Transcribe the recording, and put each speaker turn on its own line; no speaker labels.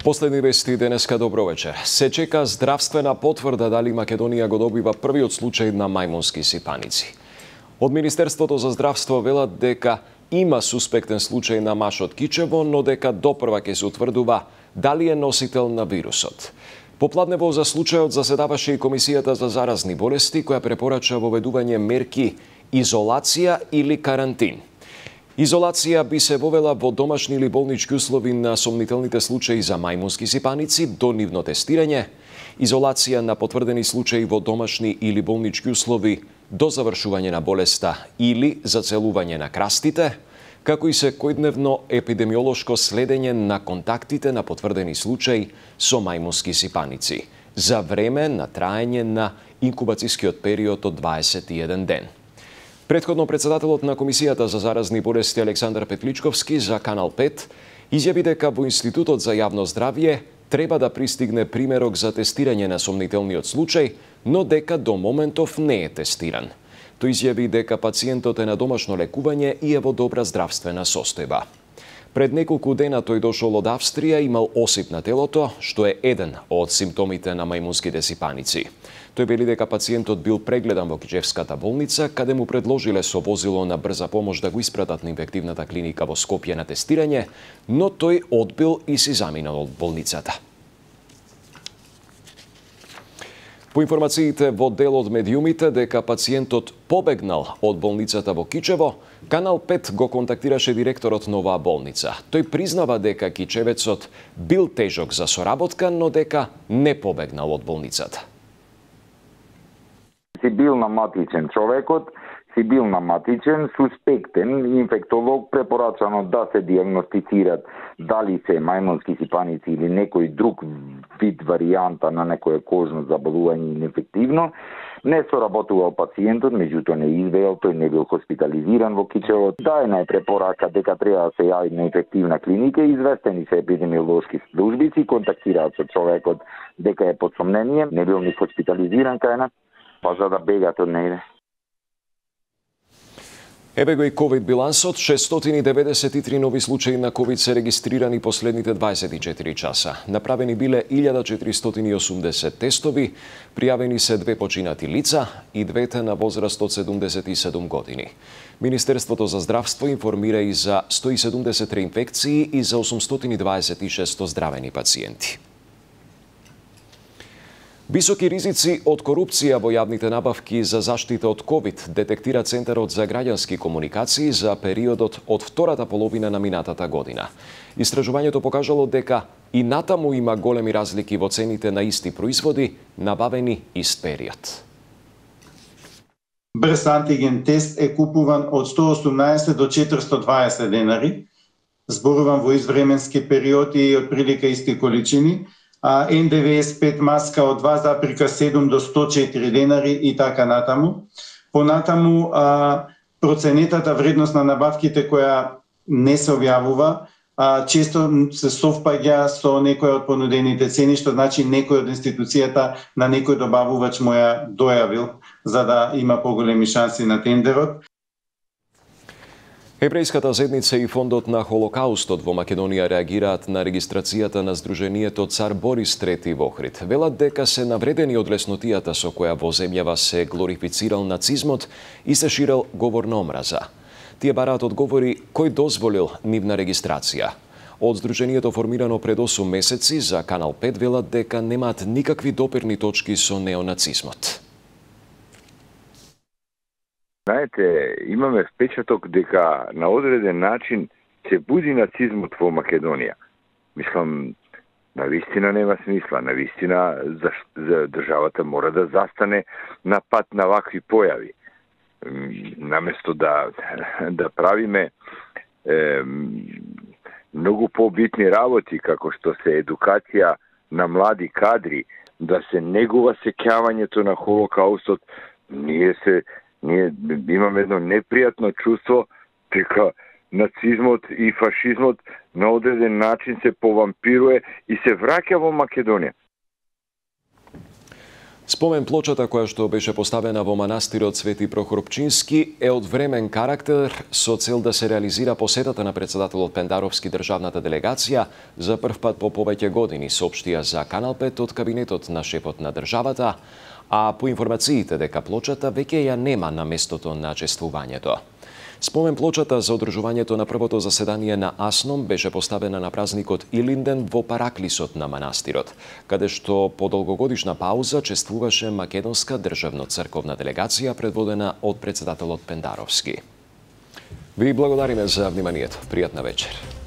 Последни вести денеска, добро вечер. Се чека здравствена потврда дали Македонија го добива првиот случај на мајмунски сипаници. Од Министерството за здравство велат дека има суспектен случај на маж од Кичево, но дека допрва ќе се утврдува дали е носител на вирусот. Попладнево за случајот заседаваше и Комисијата за заразни болести, која препорача воведување мерки изолација или карантин. Изолација би се вовела во домашни или болнички услови на сомнителните случаи за мајмунски сипаници до нивно тестирање, изолација на потврдени случаи во домашни или болнички услови до завршување на болеста или зацелување на крастите, како и секојдневно епидемиолошко следење на контактите на потврдени случаи со мајмунски сипаници за време на траење на инкубацијскиот период од 21 ден. Претходно председателот на Комисијата за заразни болести Александар Петличковски за Канал 5 изјави дека во Институтот за јавно здравје треба да пристигне примерок за тестирање на сомнителниот случај, но дека до моментов не е тестиран. Тој изјави дека пациентот е на домашно лекување и е во добра здравствена состојба. Пред неколку дена тој дошол од Австрија, имал осип на телото, што е еден од симптомите на мајмунските сипаници. Тој вели дека пациентот бил прегледан во Кичевската болница, каде му предложиле со возило на брза помош да го испратат на инфективната клиника во Скопје на тестирање, но тој одбил и си заминал од болницата. По информациите во дел од медиумите дека пациентот побегнал од болницата во Кичево, Канал 5 го контактираше директорот на оваа болница. Тој признава дека кичевецот бил тежок за соработка, но дека не побегнал од болницата.
Си бил наматичен човекот, си бил наматичен, суспектен, инфектолог препорачано да се диагностицират дали се мајмунски сипаници или некој друг вид варијанта на некое кожно заболување или инфективно. Не соработувал пациентот, меѓутоа не извеел, тој не бил хоспитализиран во Кичево. Дајна е препорака дека треба да се јави на инфективна клиника, известени се епидемиолошки службици, контактираат со човекот дека е под сомнение, не бил ни хоспитализиран кајна, па за да бегат од нејде.
Еве го и ковид билансот, 693 нови случаи на ковид се регистрирани последните 24 часа. Направени биле 1480 тестови, пријавени се 2 починати лица и двете на возраст од 77 години. Министерството за здравство информира и за 170 реинфекции и за 826 оздравени пациенти. Високи ризици од корупција во јавните набавки за заштита од ковид детектира Центарот за граѓански комуникации за периодот од втората половина на минатата година. Истражувањето покажало дека и натаму има големи разлики во цените на исти производи набавени ист период.
Брз антиген тест е купуван од 118 до 420 денари, зборувам во извременски периоди и отприлика исти количини, N95 маска од 2,7 до 104 денари и така натаму. Понатаму, проценетата вредност на набавките која не се објавува, често се совпаѓа со некој од понудените цени, што значи некој од институцијата на некој добавувач му ја дојавил, за да има поголеми шанси на тендерот.
Еврејската заедница и Фондот на Холокаустот во Македонија реагираат на регистрацијата на Сдруженијето Цар Борис III во Охрид. Велат дека се навредени од леснотијата со која во земјава се глорифицирал нацизмот и се ширел говор на омраза. Тие бараат одговори кој дозволил нивна регистрација. Од Сдруженијето формирано пред 8 месеци за Канал 5 велат дека немаат никакви допирни точки со неонацизмот.
Знаете, имаме впечаток дека на одреден начин се буди нацизмот во Македонија. Мислам, навистина нема смисла, навистина за државата мора да застане на пат на вакви појави. Наместо да правиме многу побитни работи, како што се едукација на млади кадри, да се негува сеќавањето на Холокаустот, ние имаме едно непријатно чувство дека нацизмот и фашизмот на одреден начин се повампируе и се враќа во Македонија.
Спомен плочата која што беше поставена во манастирот Свети Прохор Пчински е од времен карактер со цел да се реализира посетата на председателот Пендаровски државната делегација за прв пат по повеќе години, соопштија за Канал 5 од кабинетот на шефот на државата, а по информациите дека плочата веќе ја нема на местото на чествувањето. Спомен плочата за одржувањето на првото заседание на АСНОМ беше поставена на празникот Илинден во параклисот на манастирот, каде што по долгогодишна пауза чествуваше македонска државно-црковна делегација предводена од председателот Пендаровски. Ви благодариме за вниманието. Пријатна вечер.